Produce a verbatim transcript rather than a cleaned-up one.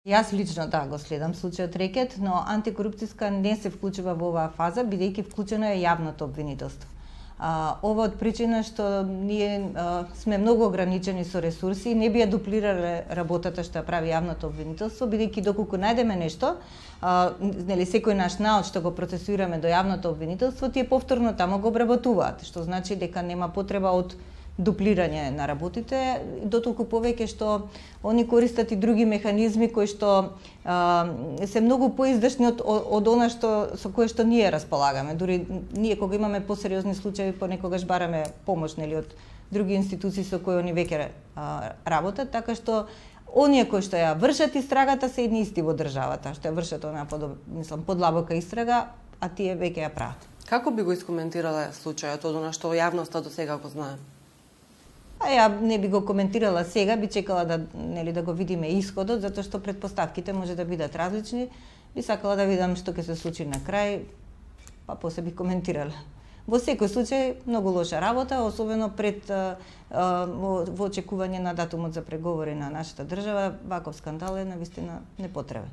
Јас лично да го следам случајот Рекет, но антикорупцијска не се вклучува во оваа фаза, бидејќи вклучено е јавното обвинителство. А, ова од причина што ние а, сме многу ограничени со ресурси, не би ја дуплирале работата што ја прави јавното обвинителство, бидејќи доколку најдеме нешто, а, нели секој наш наод што го процесуираме до јавното обвинителство, тие повторно тамо го обработуваат, што значи дека нема потреба од дуплирање на работите, дотолку повеќе што они користат и други механизми кои што а, се многу поиздашни од, од она што со кое што ние располагаме. Дури ние кога имаме посериозни случаи, понекогаш бараме помош нели од други институции со кои они веќе а, работат, така што оние кои што ја вршат истрагата се едни исти во државата, што ја вршат онаа под, мислам, подлабока истрага, а тие веќе ја прават. Како би го искоментирала случајот од она што јавноста до сега го знае? А ја не би го коментирала сега, би чекала да нели да го видиме исходот, затоа што претпоставките може да бидат различни. Би сакала да видам што ќе се случи на крај, па после би коментирала. Во секој случај многу лоша работа, особено пред а, а, во, во очекување на датумот за преговори на нашата држава, ваков скандал е навистина непотребен.